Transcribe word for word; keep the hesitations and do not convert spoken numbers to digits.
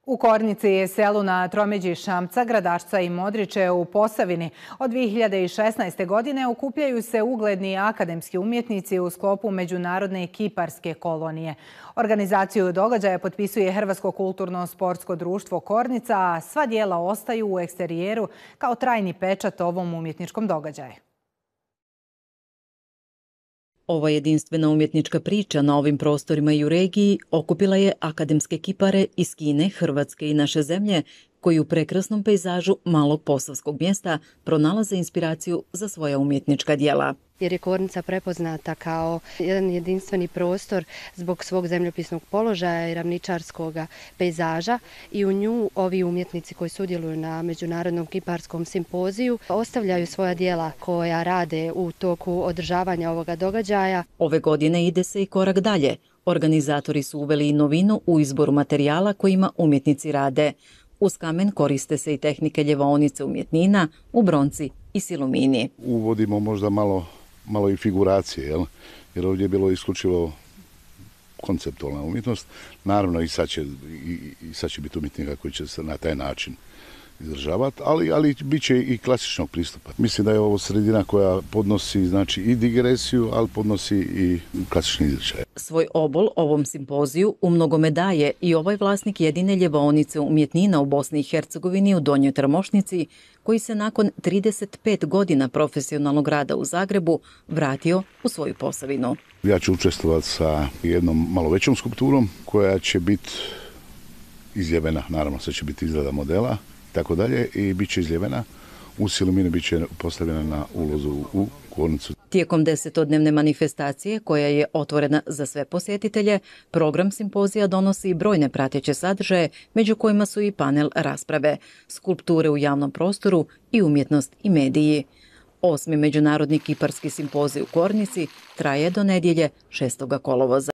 U Kornici je selu na tromeđi Šamca, Gradašca i Modriče u Posavini od dvije hiljade šesnaeste. godine okupljaju se ugledni akademski umjetnici u sklopu Međunarodne kiparske kolonije. Organizaciju događaja potpisuje Hrvatsko kulturno-sportsko društvo Kornica, a sva dijela ostaju u eksterijeru kao trajni pečat ovom umjetničkom događaju. Ova jedinstvena umjetnička priča na ovim prostorima i u regiji okupila je akademske kipare iz Kine, Hrvatske i naše zemlje, koji u prekrasnom pejzažu malog posavskog mjesta pronalaze inspiraciju za svoja umjetnička djela. Jer je Kornica prepoznata kao jedan jedinstveni prostor zbog svog zemljopisnog položaja i ravničarskog pejzaža i u nju ovi umjetnici koji sudjeluju na Međunarodnom kiparskom simpoziju ostavljaju svoja djela koja rade u toku održavanja ovoga događaja. Ove godine ide se i korak dalje. Organizatori su uveli i novinu u izboru materijala kojima umjetnici rade. Uz kamen koriste se i tehnike ljevaonice umjetnina u bronci i silumini. Uvodimo možda malo, malo i figuracije, jel? Jer ovdje je bilo isključivo konceptualna umjetnost. Naravno i sad će, i, i sad će biti umjetnika koji će se na taj način izražavati, ali, ali bit će i klasičnog pristupa. Mislim da je ovo sredina koja podnosi znači, i digresiju, ali podnosi i klasični izričaj. Svoj obol ovom simpoziju u mnogome daje i ovaj vlasnik jedine ljevaonice umjetnina u Bosni i Hercegovini u Donjoj Trmošnici, koji se nakon trideset pet godina profesionalnog rada u Zagrebu vratio u svoju Posavinu. Ja ću učestvovati sa jednom malo većom skulpturom koja će biti izljevena, naravno sve će biti izrada modela, tako dalje, i bit će izljevena. U silumini bit će postavljena na ulozu u Kornicu. Tijekom desetodnevne manifestacije, koja je otvorena za sve posjetitelje, program simpozija donosi i brojne prateće sadržaje, među kojima su i panel rasprave, skulpture u javnom prostoru i umjetnost i mediji. Osmi Međunarodni kiparski simpozij u Kornici traje do nedjelje šestog kolovoza.